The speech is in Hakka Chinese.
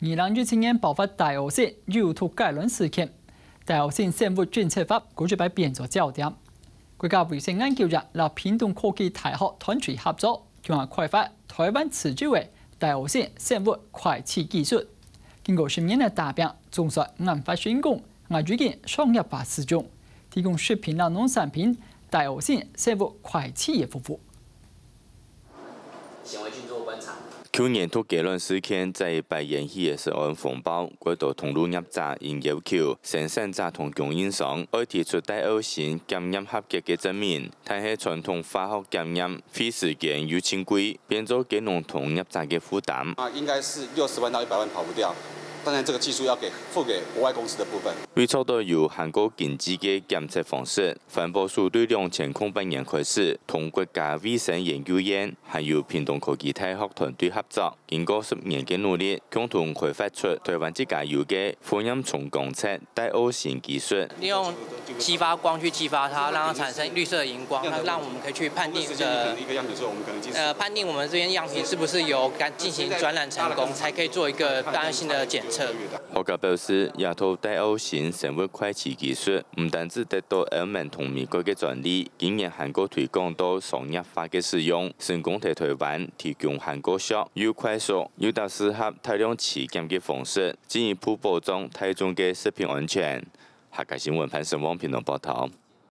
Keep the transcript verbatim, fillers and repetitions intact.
二零一七年爆發大烏性有毒雞卵事件，大烏性生物檢測法過去擺變做焦點。國家衛生研究院摎屏東科技大學團隊合作，共下開發台灣自有个大烏性生物快篩技術。經過十年个打拚，總算研發成功，也已經商業化使用，提供食品摎農產品大烏性生物快篩个服務。 舊年毒雞卵事件再一擺掀起个食安風暴，蓋多通路業者因要求生產者同供應商愛提出大烏性檢驗合格个證明，但係傳統化學檢驗費時間又盡貴，變做雞農同業者个負擔。啊，應該是六十萬到一百萬跑不掉。當然，這個技術要給付給國外公司的部分。為著到有韓國經濟个檢測方式，環保署對兩千空八年開始同國家衛生研究院還有屏東科技大學團隊合作，經過十年个努力，共同開發出台灣自家有个負鹽重光測大烏性技術。利用激發光去激發它，讓它產生綠色的螢光，那讓我們可以去判定的呃判定我們這邊樣品是不是有進行轉染成功，才可以做一個單性的檢測。學家表示，這套大烏性生物快篩技術毋單止得到歐盟同美國个專利，今年還過推廣到商業化个使用，成功在台灣提供還過俗、又快速、又較適合大量篩檢个方式，進一步保障大眾个食品安全。客家新聞潘成旺屏東報導。